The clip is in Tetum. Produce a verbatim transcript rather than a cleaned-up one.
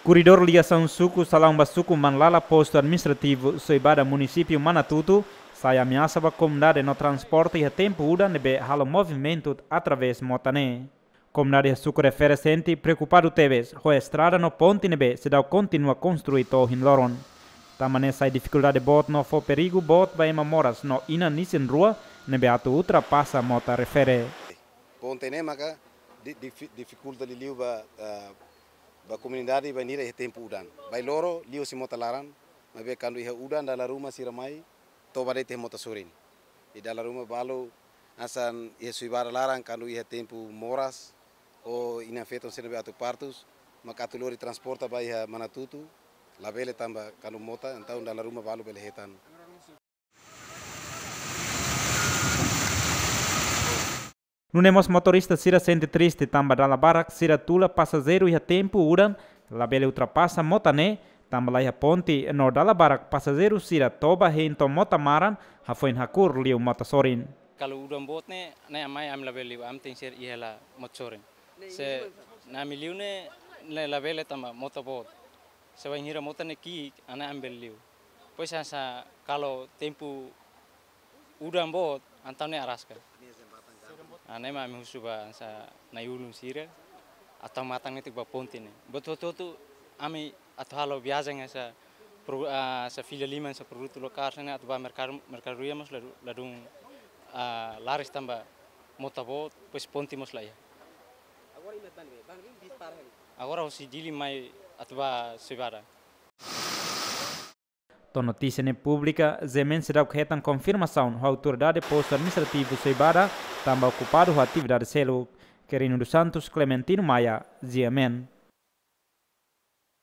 Korredór ligasaun suku Salaun ba suku Manlala, postu administrativu Soibada, munisípiu Manatuto, sai ameasa ba komunidade no transporte iha tempu udan ne'ebé halo movimentu através mota ne'e. Komunidade iha suku refere sente preokupadu tebes ho estrada no ponte ne'ebé seidauk kontinua konstrui to'o ohin loron. Tanba ne'e sai difikuldade boot no fó perigu boot ba ema moras no inan isin-rua ne'ebé atu ultrapasa mota refere. Ponte ne'e maka di-, difi-, difikulta liuliu ba, ah, ba komunidade bainhira iha tempu udan. Bailoro liu husi mota laran, maibé kuandu iha udan dala ruma sira mai, toba de'it iha mota sorin. I dala ruma balu hanesan iha Soibada laran kuandu iha tempu moras, ou inan-feton sira ne'ebé atu partus, maka atu lori transporta ba iha Manatuto, labele tanba kuandu mota, entaun dala ruma balu bele hetan. Nune'e mós motorista sira sente triste tanba dala barak sira tula pasajeiru iha tempu udan labele ultrapasa mota ne'e, tanba laiha ponte no dala barak pasajeiru sira toba hein to'o mota maran, hafoin hakur liu mota sorin. Kalau udan boot ne'e, ne'e ami, ami labele liu, ami tenke ser iha hela mota sorin. Se, ne'e ami liu ne'e, ne'e labele tanba mota boot. Se bainhira mota ne'e ki'ik, ne'e ami bele liu. Depois hanesan kalau tempu udan boot, entaun ne'e araska. Ah, ne'e mak ami husu ba hanesan na'i-ulun sira, atu matan netik ba ponte ne'e. Buat hotu-hotu ami atu halo viajen hanesan pro-, ah, hanesan fila liman, hanesan produtu lokál, hanesan ne'e atu ba merkadu, merkadoria mós ladu-, ladún, ah, laris tanba mota boot, depois ponte mós laiha. Agora husi Dili mai atu ba Soibada. To'o notísia ne'e públika, G M N seidauk hetan konfirmasaun ho autoridade postu administrativu Soibada, tanba okupadu ho atividade seluk. Quirino dos Santos, Clementino Maia, G M N.